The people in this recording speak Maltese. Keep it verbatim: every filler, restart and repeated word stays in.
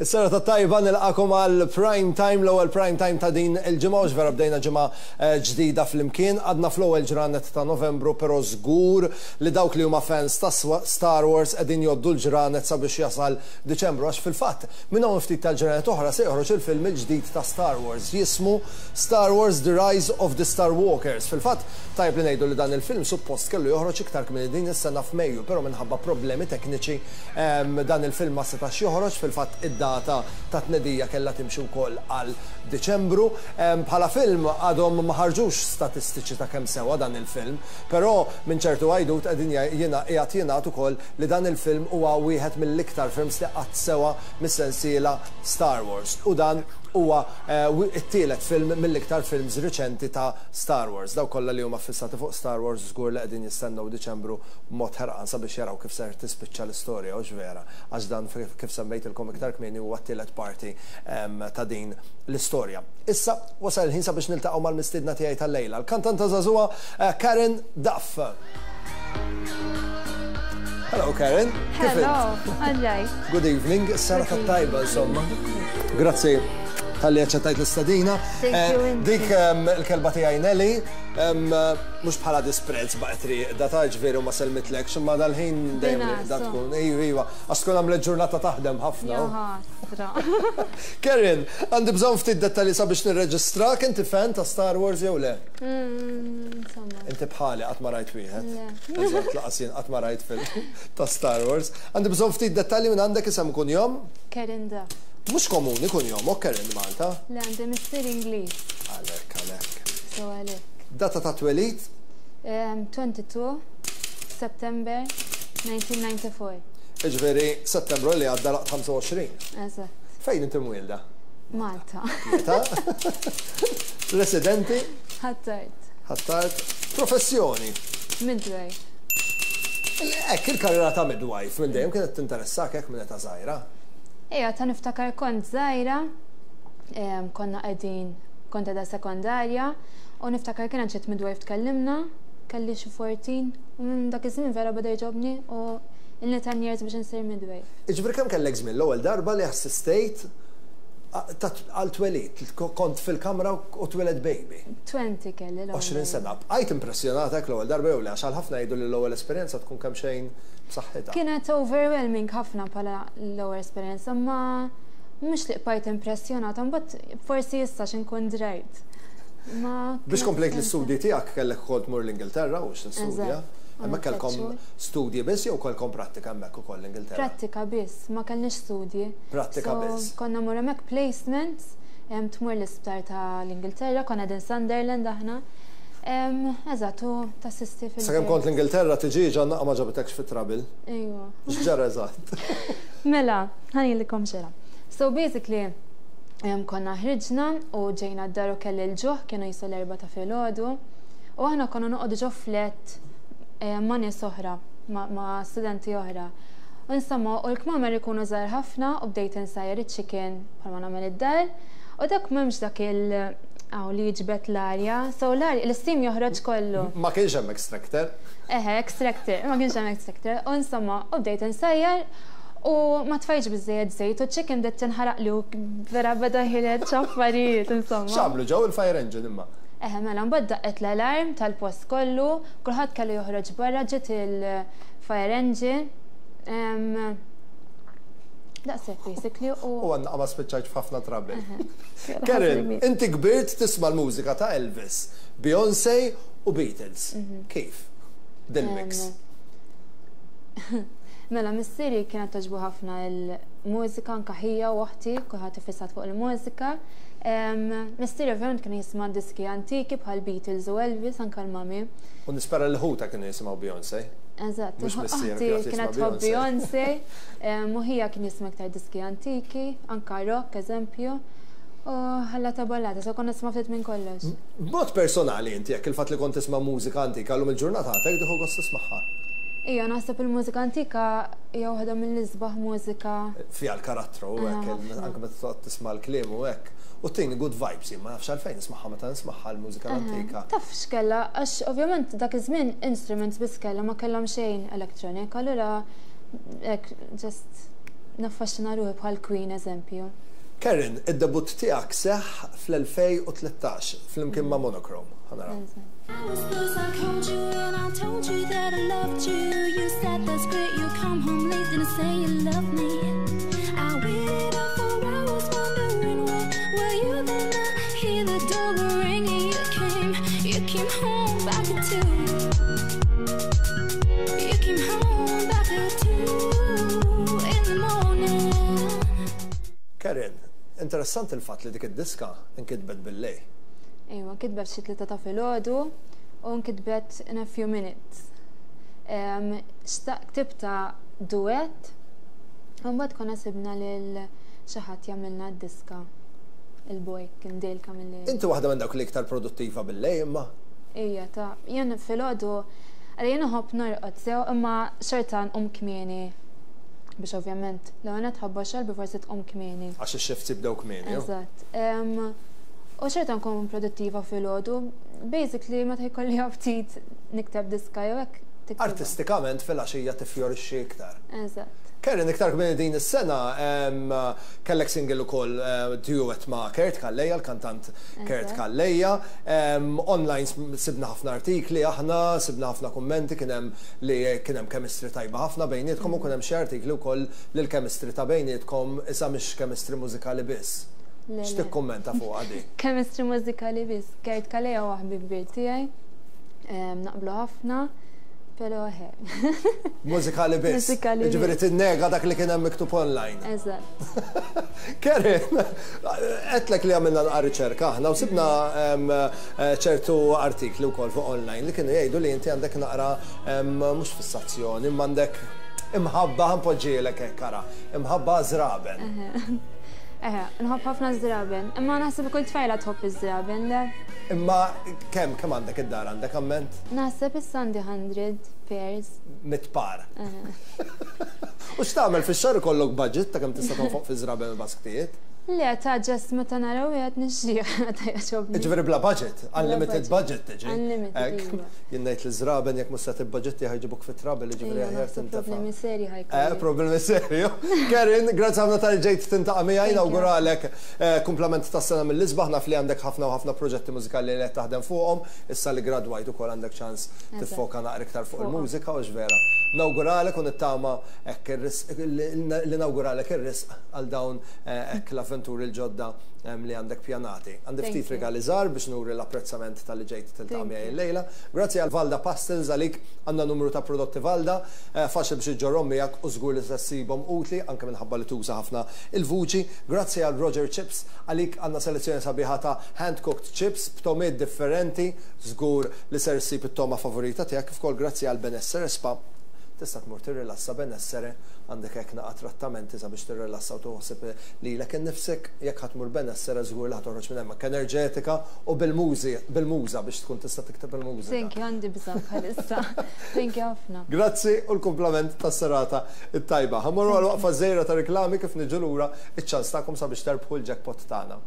Is-serata tajba, nilqagħkom għal prime time, l-ewwel prime time ta' din il-ġimgħa, u vera bdejna ġimgħa eh, ġdida flimkien. Għadna fl-ewwel ġranet ta' Novembru, però żgur li dawk li huma fans ta' Star Wars qegħdin jgħoddu l-ġranet sabiex jasal Diċembru, għax fil-fatt minn hawn ftit tal-ġranet oħra se joħroġ il-film il-ġdid ta' Star Wars, jismu Star Wars: The Rise of the Star Walkers. Fil-fatt tajb li ngħidu li dan il-film suppost kellu joħroġ iktar kmieni din is-sena f'Mejju, però minħabba problemi tekniċi dan il-film ma setax joħroġ. Fil-fatt id-data ta' tnedija kellha timxi wkoll għal Diċembru. Bħala film għadhom ma ħarġux statistiċi ta' kemm sewa dan il-film, però minn ċertu għajdut qegħdin jiena qiegħed jingħad ukoll li dan il-film huwa wieħed mill-iktar films li qatt sewa mis-sensiela Star Wars. U dan huwa eh, it-tielet film mill-iktar films riċenti ta' Star Wars. Dawk kollha li huma fissati fuq Star Wars żgur li qegħdin jistennew Diċembru b'mod ħerqan sabiex jaraw kif ser tispiċċa l-istorja, u vera, għax dan, kif semmejtilkom iktar kmieni, huwa t-tielet parti ta' din l-istorja. Issa wasal il-ħin sabiex niltaqgħu mal-mistiedna tiegħi tal-lejla, l-kantanta żagħżugħa eh, Karen Duff. Hello, Karen. Hello, għadġaj. Good evening, serata tajba insomma. Grazzi talli aċċettajt l-istedina. Eh, dik il-kelba tiegħi Nelly, mhux bħala disprezz baqgħet rieqda ta', ġifieri ma sellmitlekx, imma dal-ħin dejjem da tkun. Ejju, iva, għax tkun għamlet ġurnata taħdem ħafna. Karen, għandi bżonn ftit dettalji sabiex nirreġistrak. Inti fan ta' Star Wars jew le? Mm, insomma. Inti bħali, qatt ma rajt wieħed. Eżatt, lanqas jien qatt ma rajt film ta' Star Wars. Għandi bżonn ftit dettalji minn għandek. Isem, kunjom? Karen Duff. Mhux komuni kunjom, o Karen, Malta? Le, għandi missier Ingliż. Għalhekk, għalhekk. So għalhekk. Data ta' twelid? tnejn u għoxrin September elf disa' mija u disgħa u disgħin. Ġifieri, Settembru li għadda għalaqt ħamsa u għoxrin. Eżatt. Fejn inti mwielda? Malta. Malta. Residenti? Ħ'Attard. Ħ'Attard. Professjoni? Midwife. Ek, il-karriera ta' midwife minn dejjem kienet tinteressak hekk minn età żgħira? Ejja, ta' niftakar kont żgħira, em, konna qegħdin, kont qiegħda sekondarja, u niftakar kien ġiet midwife tkellimna, kelli xi erbatax, u minn dak iż-żmien vera beda jogħġobni u ilni ten years biex insir midwife. Ġifieri kemm kellek żmien l-ewwel darba li assistejt għal twelid, kont fil-kamra u tweled baby? għoxrin kelli l-ewwel. għoxrin sena. Bqajt impressjonata l-ewwel darba jew le? Għax għal ħafna jgħidu li l-ewwel esperjenza tkun kemm xejn b'saħħitha. Kienet overwhelming ħafna bħala l-ewwel esperjenza, ma mhux li bqajt impressjonata, mbagħad forsi issa x'inkun drajt. Ma Biex komplejt l-istudji tiegħek kellek ukoll tmur l-Ingilterra u x'tistudja. Eżatt. Hemmhekk kellkom Għamilt tliet studji biss jew kellkom prattika hemmhekk ukoll l-Ingilterra? Prattika biss, ma kellniex studji. Prattika So, biss. Konna mmur hemmhekk placements, em, tmur l-isptar ta' l-Ingilterra, konna din Sunderland aħna. Em, Eżatt, u tassisti fil- Sakemm kont l-Ingilterra tiġi ġanna ma ġabitekx fit trouble. Ejwa. X'ġara eżatt? Mela, ħa ngħidilkom x'ġara. So basically, em, konna ħriġna u ġejna d-dar u kelli l-ġuħ, kienu jisu l-erbgħa ta' filgħodu. U aħna konna noqogħdu ġo flat eh, ma' nies oħra, ma' ma' studenti oħra. U insomma, u l-kmamer ikunu żgħar ħafna u bdejt insajjar iċ-chicken bħalma nagħmel id-dar. U dak m'hemmx dak il- għaw li jiġbed l-arja, so l-arja, l-steam joħroġ kollu. Ma kienx hemm extractor. Eħe, extractor, ma kienx hemm extractor. U insomma, u bdejt insajjar u ma tfajtx biżżejjed żejt u chicken bdiet tinħaraq li u vera beda ħireġ affarijiet, insomma. X'għamlu, ġew il-fire engine imma? Eħe, mela, mbagħad daqqet l-alarm tal-post kollu, kulħadd kellu joħroġ barra, ġiet il-fire engine. Em, Daqshekk basically u U għandna ma spiċċajt f'ħafna trouble. Karen, Karen, inti kbirt tisma' l-mużika ta' Elvis, Beyoncé u Beatles. Kif? Dil-mix. Mela, missieri kienet togħġbu ħafna il-mużika, anka ħija u oħti, kulħadd ifissat fuq il-mużika. Em, Missieri ovvjament kien jisma' diski antiki bħal Beatles u Elvis, anka l-mami. U nispera li ħuta kienu jisimgħu Beyoncé. Eżatt, Mhux missier oħti kienet kienet jisma' tħobb Beyoncé, em, u ħija kien jisma' iktar diski antiki, anka rock, eżempju. U ħalla ta' ballata, so konna nisma' ftit minn kollox. B'mod personali inti jekk il-fatt li kont tisma' mużika antika llum il-ġurnata għadek tieħu gost tismagħha? Ija, naħseb il-mużika antika hija waħda mill-isbaħ mużika. Fiha l-karattru u hekk, Ħafna. anke meta toqgħod tisma' l-kliem u hekk. U tini good vibes, jien ma nafx għalfejn nismagħha meta nismagħha l-mużika l-antika. Taf x'kella, għax ovvjament dak iż-żmien instruments biss kella, ma kellhom xejn electronic, allura hekk just Naffaxxina ruħi bħal Queen, eżempju. Karen, id-debut tiegħek seħ fl-elfejn u tlettax flimkien ma' Monochrome. Ħa naraw. I was close, I called you and I told you that I loved you. You said that's great, you come home late, didn't say you love me. I waited up for hours wondering where were you, then I hear the doorbell ringing. You came, you came home back at two. You came home back at two in the morning. Karen, interessanti il-fatt li dik id-diska nkitbet bil-lejl. Ejwa, nkitbet xi tlieta ta' filgħodu u nkitbet in a few minutes. Ktibta duet, u mbagħad konna sibna lil xi ħadd jagħmilna d-diska. Il-boy kien Dale Camilleri. Inti waħda minn dawk li iktar produttiva bil-lejl imma. Ija, ta' jien filgħodu, għalli jien nħobb norqod sew, imma xorta nqum kmieni biex ovvjament l-għana tħabba xalbi forsi tqum kmieni. Għax ix-shifts jibdew kmieni. Eżatt. U xorta nkun produttiva filgħodu, basically meta jkolli ftit nikteb diska jew hekk. Artistikament fil-għaxija tifjorixxi iktar. Eżatt. Karen, iktar kmieni din is-sena kellek single ukoll duet ma' Kurt Calleja, l-kantant Kurt Calleja. Online sibna ħafna artikli aħna, sibna ħafna kummenti, kien hemm li kien hemm chemistry tajba ħafna bejnietkom u kien hemm xi artikli wkoll li l-chemistry ta' bejnietkom issa mhix chemistry mużikali biss. X'tikkummenta fuq għadi? Chemistry mużikali biss. Kurt Calleja huwa ħabib kbir tiegħi. Naqblu ħafna. Pero he. Mużikali biss. Mużikali biss. Ġifieri tinnega dak li kien hemm miktub online. Eżatt. Karen, għedtlek li għamilna naqra riċerka aħna u sibna ċertu artikli wkoll fuq online li kienu jgħidu li inti għandek naqra mhux fissazzjoni, imma għandek imħabba, ħa npoġġihielek hekk ara, imħabba żraben. Eħe, nħobb ħafna żraben. Imma naħseb kull tfajla tħobb iż-żraben, le? Imma kemm kemm għandek id-dar, għandek amment? Naħseb issa għandi hundred pairs. Mitt par. U x'tagħmel fix-xahar, ikollok budget ta' kemm tista' tonfoq fi żraben u basktijiet? Le, ta' just meta naraw jgħid nixtrih meta jogħġobni. Ġifieri bla budget, unlimited budget tiġi. Unlimited, iva. Jien ngħid li żraben jekk mhux se tibbaġetti ħa jġibuk fi trouble, ġifieri aħjar tintefa'. Problemi seri Eh, ħa jkolli. Problemi serju. Karen, grazzi ħafna talli ġejt tiltaqa' miegħi, nawguralek eh, kumplament ta' sena mill-isbaħ, naf li għandek ħafna u ħafna proġetti mużikali li qed taħdem fuqhom, issa li gradwajt ukoll għandek ċans tiffoka naqra iktar fuq il-mużika u vera. Nawguralek u nittama hekk li nawguralek ir-risq għal dawn eh, hekk l-avventuri l-ġodda li għandek pjanati. Għandi ftit regali żgħar biex nuri l-apprezzament talli ġejt tiltaqa' miegħi l-lejla. Grazzi għal Valda Pastels, għalik għandna numru ta' prodotti Valda, eh, faċli biex iġġorhom miegħek u żgur li se ssibhom utli anke minħabba li tuża ħafna il-vuċi. Grazzi għal Roger Chips, għalik għandna selezzjoni sabiħa ta' hand-cooked chips b'togħmiet differenti, żgur li ser ssib it-togħma favorita tiegħek. Kif ukoll grazzi għal Benessere Spa, tista' tmur tirrilassa Benessere, għandek hekk naqa' trattamenti sabiex tirrilassa u toħseb lilek innifsek. Jekk ħa tmur Benessere żgur li ħa toħroġ minn hemmhekk enerġetika u bil-mużi bil-muża biex tkun tista' tikteb il-mużika. Thank you, għandi bżonn bħalissa. Thank you ħafna. Grazzi u l-kumplament tas-serata it-tajba. Ħa mmorru għal waqfa żgħira ta' reklami, kif niġu lura iċ-ċans tagħkom sabiex terbħu l-jackpot tagħna.